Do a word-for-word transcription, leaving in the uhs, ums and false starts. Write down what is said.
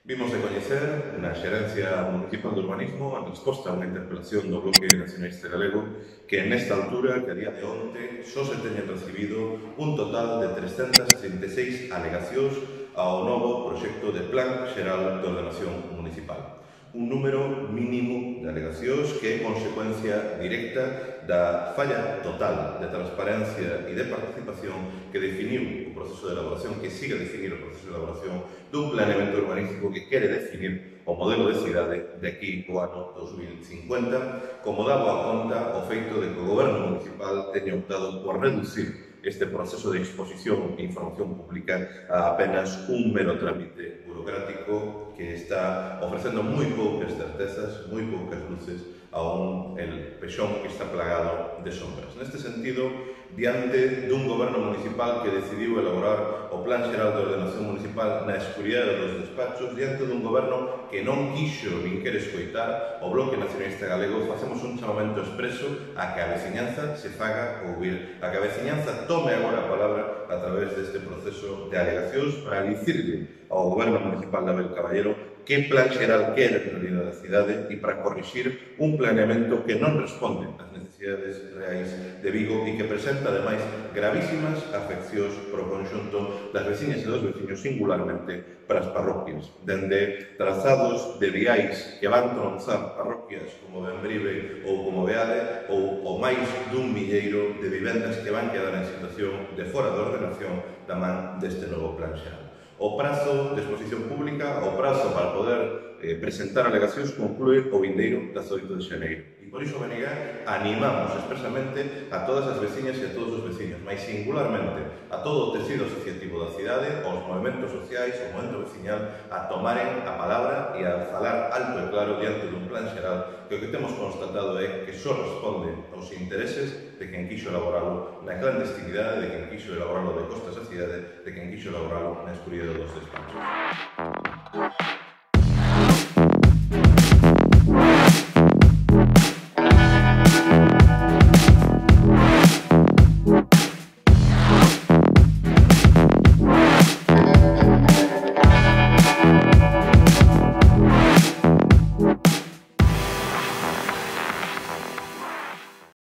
Vimos de coñecer na Xerencia Municipal de Urbanismo en resposta a unha interpelación do Bloque Nacionalista Galego que nesta altura, que a día de onte, só se teñen recibido un total de trescentas trinta e seis alegacións ao novo proxecto de Plan Xeral de Ordenación Municipal. Un número mínimo de alegacións que é consecuencia directa da falla total de transparencia e de participación que definiu o proceso de elaboración, que sigue a definir o proceso de elaboración dun planeamento urbanístico que quere definir o modelo de cidade de aquí ao ano dos mil cincuenta, como daba a conta o feito de que o Goberno Municipal teña optado por reducir este proceso de exposición e información pública a apenas un mero trámite burocrático que está ofrecendo moi poucas certezas, moi poucas luces a un el pexón que está plagado de sombras. Neste sentido, diante dun goberno municipal que decidiu elaborar o Plan Xeral de Ordenación Municipal na escuridade dos despachos, diante dun goberno que non quixo nin quere escoitar o Bloque Nacionalista Galego, facemos un chamamento expreso a que a veciñanza se faga ouvir, a que a veciñanza tome agora a palabra a través deste proceso de alegacións para dicirle ao Goberno Municipal de Abel Caballero que plan xeral quere en realidad da cidade e para corrixir un planeamento que non responde ás necesidades reais de Vigo e que presenta, ademais, gravísimas afeccións pro conxunto das veciñas e dos veciños, singularmente para as parroquias, dende trazados de viais que van tronzar parroquias como Bembrive ou como Beade ou o máis dun milleiro de vivendas que van quedar en situación de fora de ordenación da man deste novo plan xeral. O prazo de exposición pública, o prazo para poder eh, presentar alegacións conclúe o vindeiro dezaoito de xaneiro. E por iso, B N G, animamos expresamente a todas as veciñas e a todos os veciños, mais singularmente a todo o tecido asociativo da cidade, aos movimentos sociais, ao movimento veciñal, a tomaren a palabra e a falar alto e claro diante dun plan xeral que o que temos constatado é que só responde aos intereses de quen quixo elaboralo na clandestinidade, de quen quixo elaboralo de costas á cidade, de quen quixo elaboralo na escuridade dos despachos.